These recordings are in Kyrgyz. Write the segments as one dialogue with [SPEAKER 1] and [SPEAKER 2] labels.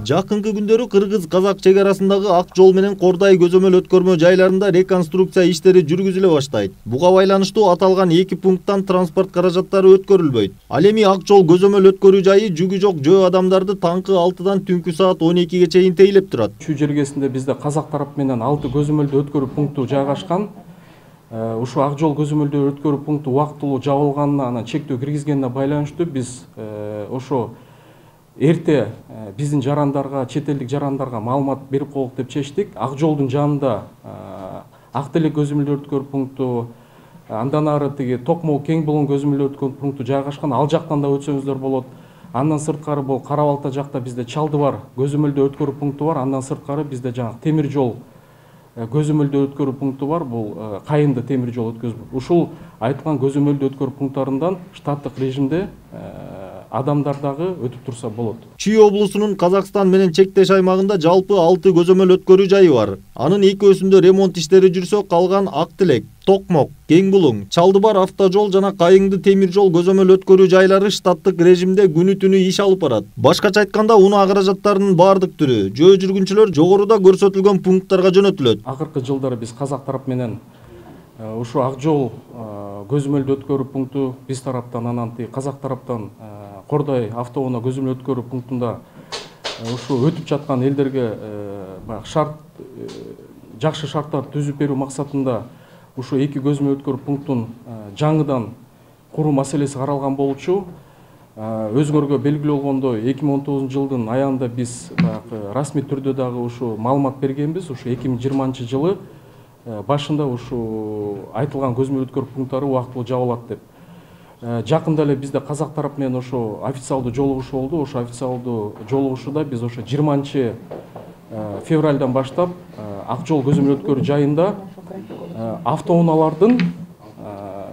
[SPEAKER 1] Жакынкы күндөрү кыргыз-казак чек арасындагы Ак жол менен Кордай көзөмөл өткөрмө жайларында реконструкция иштери жүргүзүлө баштайт. Буга байланыштуу аталган 2 пункттан транспорт каражаттары өткөрүлбөйт. Ал эми Ак жол көзөмөл өткөрүү жайы жүгү жок жөө адамдарды таңкы 6-дан түнкү саат 12-ге чейин тейлеп турат.
[SPEAKER 2] Ушул жергесинде бизде казак тарап менен 6 көзөмөлдү өткөрүү пункту жайгашкан. Ушу Ак жол көзөмөлдү өткөрүү пункту убактылуу жабылганына, анан чектөө киргизгенине байланыштуу биз ошо эрте биздин жарандарга, чет элдик жарандарга маалымат берип коелук деп чечтик. Ак жолдун жанында Ак Телек көзөмөлдү өткөрүү пункту, андан ары тиги Токмол Кең Булуң көзөмөлдү өткөрүү пункту жайгашкан. Ал жактан да өтсөңүздөр болот. Андан сырткары бул Кара Балта жакта бизде Чалдыбар көзөмөлдү өткөрүү пункту бар. Андан сырткары бизде жаңы темир жол көзөмөлдү өткөрүү пункту бар. Бул Кайынды темир жол өткөзүп. Ушул айтылган көзөмөлдү өткөрүү пункттарынан штаттык режимде адамдар дагы өтүп турса болот.
[SPEAKER 1] Чүй облусунун Казакстан менен чектеш аймагында жалпы 6 көзөмөл өткөрүү жайы бар. Анын экөөсүндө ремонт иштери жүрсө, калган Ак Телек, Токмок, Кең Булуң, Чалдыбар автожол жана Кайыңды темир жол көзөмөл өткөрүү жайлары штаттык режимде күнү-түнү иш алып барат. Башкача айтканда, унаа каражаттарынын бардык түрү жөө жүргүнчүлөр жогоруда көрсөтүлгөн пункттарга жөнөтүлөт.
[SPEAKER 2] Акыркы жылдары биз казак тарап менен ушу Ак жол көзөмөлдү өткөрүү пункту биз тараптан, анан казак тараптан Кордай автоунаа көзөмөл өткөрүү пунктунда ушу өтүп жаткан элдерге жакшы шарттар түзүп берүү максатында ушу 2 көзөмөл өткөрүү пунктун жаңыдан куруу маселеси каралган болчу. Өзгөргө белгилүү болгондой 2019 жылдын аягында биз расмий түрдө дагы ушу маалымат бергенбиз. Ушу 2020 жылы башында ушу айтылган көзөмөл өткөрүү пункттары убактылуу жабылат деп. Жакында эле бизде казак тарап менен ошо официалдуу жолугушуу болду. Ошо официалдуу жолугушууда биз ошо 20 февралдан баштап Ак жол көзөмөл өткөрүү жайында автоунаалардын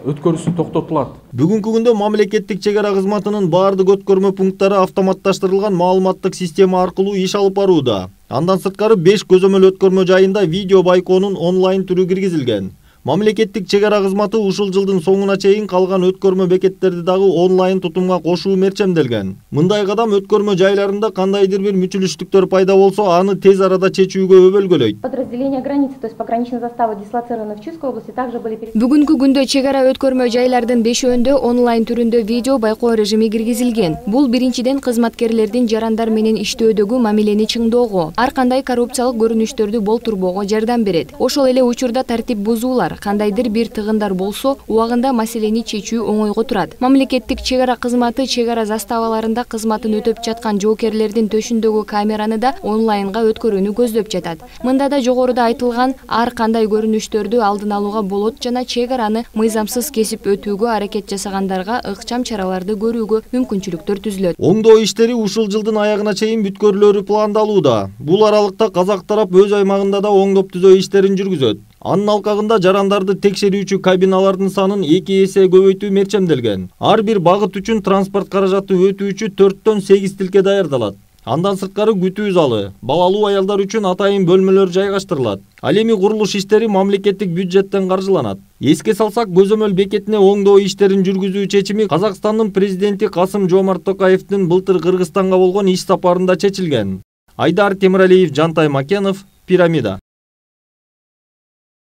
[SPEAKER 2] өткөрүүсү токтотулат.
[SPEAKER 1] Бүгүнкү күндө мамлекеттик чек ара кызматынын бардык өткөрмө пункттары автоматташтырылган маалыматтык система аркылуу иш алып барууда. Андан сырткары 5 көзөмөл өткөрмө жайында видео байкоонун онлайн түрү киргизилген. Мамлекеттик чек ара кызматы ушул жылдын соңуна чейин калган өткөрмө бекеттерди дагы онлайн тутумга кошуу мерчемделген. Мындай кадам өткөрмө жайларында кандайдыр бир мүчүлүштүктөр пайда болсо, аны тез арада чечүүгө өбөлгөлөйт.
[SPEAKER 3] Подразделения границы, то есть пограничные заставы, дислоцированы в Чуйской области, также были.
[SPEAKER 4] Бүгүнкү күндө чек ара өткөрмө жайлардын 5-өндө онлайн түрүндө видео байкоо режими киргизилген. Бул биринчиден кызматкерлердин жарандар менен иштөөдөгү мамилени чыңдоого, ар кандай коррупциялык көрүнүштөрдү болтурбоого жардам берет. Ошол эле учурда тартип бузуулар, кандайдыр бир тыгындар болсо, убагында маселени чечүү оңойго турат. Мамлекеттик чек ара кызматы чек ара заставаларында кызматын өтөп жаткан жоокерлердин төшүндөгү камераны да онлайнга өткөрүүнү көздөп жатат. Мында да жогоруда айтылган ар кандай көрүнүштөрдү алдын алууга болот жана чек араны мыйзамсыз кесип өтүүгө аракет жасагандарга ыкчам чараларды көрүүгө мүмкүнчүлүктөр түзүлөт.
[SPEAKER 1] Оңдоо иштери ушул жылдын аягына чейин бүткөрүлөрү пландалууда. Бул аралыкта казак тарап өз аймагында да оңдоп түзөө иштерин жүргүзөт. Анын алкагында жарандарды текшерүүчү кабиналардын санын 2 эсе көбөйтүү мерчемделген. Ар бир багыт үчүн транспорт каражаты өтүүчү 4-төн 8 тилке даярдалат. Андан сырткары күтүү залы, балалуу аялдар үчүн атайын бөлмөлөр жайгаштырылат. Ал эми курулуш иштери мамлекеттик бюджеттен каржыланат. Эске салсак, көзөмөл бекетине оңдоо иштерин жүргүзүү чечими Казакстандын президенти Касым-Жомарт Токаевдин былтыр Кыргызстанга болгон иш сапарында чечилген. Айдар Темиралиев, Жантай Макенов, Пирамида.